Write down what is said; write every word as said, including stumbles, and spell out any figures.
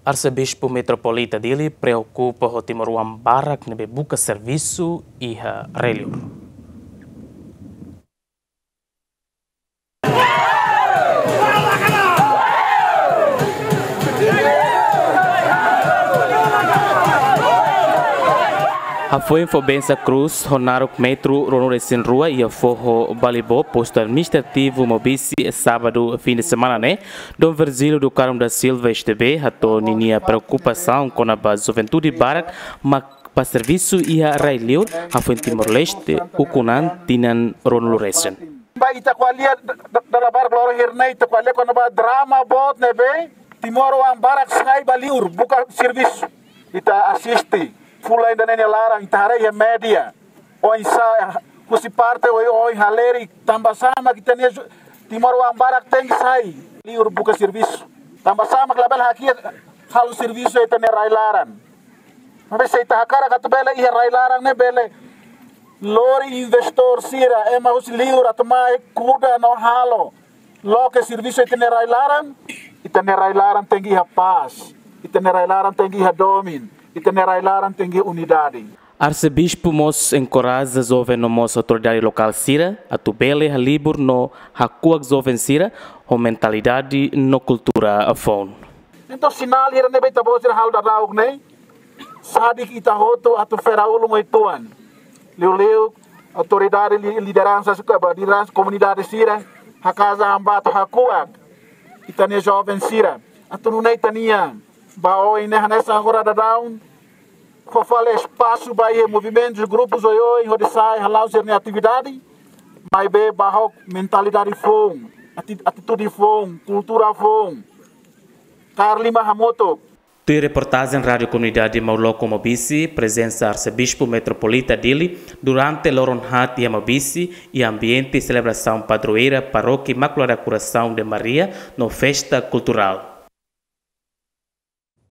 Arsebispu Metropolita Dili preokupa ho timoroan barak ne'ebé buka servisu iha rai-li'ur. Hafoin fó bensa krús ho naruk metru ruanulu-resin-rua iha foho Balibo, postu administrativu Maubisse, sábadu fim de semana ne'e, Dom Virgílio do Carmo da Silva, S D B, hato'o ninia preokupasaun kona-ba juventude barak mak bá servisu iha rai-li'ur, hafoin Timor-Leste ukun an tinan ruanulu-resin. Ba ita ko'alia da-, da-, dala barak loron hirak ne'e ita ko'alia kona-ba drama boot ne'ebé timoroan barak sai ba li'ur buka servisu. Ita asiste fulan ida-ne'e nia laran, ita haree iha média. Oinsá husi parte oioin halerik, tanbasá mak ita-nia ju-, timoroan barak tenke sai li'ur buka servisu. Tanbasá mak labele hakiak halo servisu iha ita-nia rai-laran. Maibé se ita hakarak atu bele iha rai-laran ne'e bele lori investór sira, ema husi li'ur atu mai kuda no halo loke servisu iha ita-nia rai-laran, ita-nia rai-laran tenke iha pás, ita-nia rai-laran tenke iha domin, ita-nia rai-laran tenke iha unidade. Arsebispu mós enkoraja joven no mós autoridade lokál sira atu bele halibur no hakuak joven sira ho mentalidade no kultura foun. Entaun, sinál hirak ne'ebé ita-boot sira halo daudaun ne'e, sadik ita hotu atu fera ulun oituan. Liuliu autoridade, li-, lideransa suka ba, lideransa komunidade sira, hakarak atu hakuak ita-nia joven sira. Atu nune'e ita-nia ba oin ne'e hanesan agora daudaun, fó fali espasu ba iha movimentus, grupus oioin hodi sai hala'o sira-nia atividade, maibé ba ho mentalidade foun, ati-, atitude foun, kultura foun. Kaer liman hamutuk. Tuir reportajen Rádiu Komunidade Mauloko Maubisse, prezensa Arsebispu Metropolita Dili durante loron haat iha Maubisse, iha ambiente selebrasaun padroeira Parókia Imaculada Coração de Maria no festa kulturál.